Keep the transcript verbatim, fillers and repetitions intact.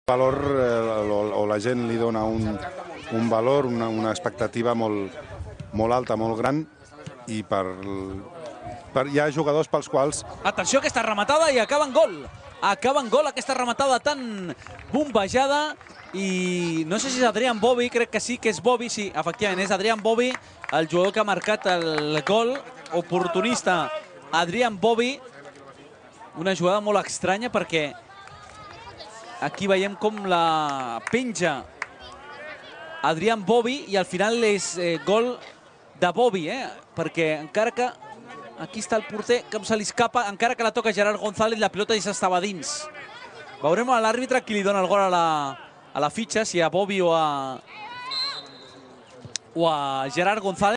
valor eh, o, o la gent li dona un, un valor, una, una expectativa molt, molt alta, molt gran, i per, per, hi ha jugadors pels quals... Atenció a aquesta rematada i acaba en gol. Acaba en gol aquesta rematada tan bombejada i no sé si és Adrián Bobby, crec que sí que és Bobby, sí, efectivament, és Adrián Bobby, el jugador que ha marcat el gol, oportunista Adrián Bobby. Una jugada molt estranya perquè aquí veiem com la penja Adrián Bobby i al final és eh, gol de Bobby, eh? Perquè encara que aquí està el porter, com se li escapa, encara que la toca Gerard González, la pilota ja estava dins. Veurem a l'àrbitre qui li dona el gol a la, a la fitxa, si a Bobby o a, o a Gerard González.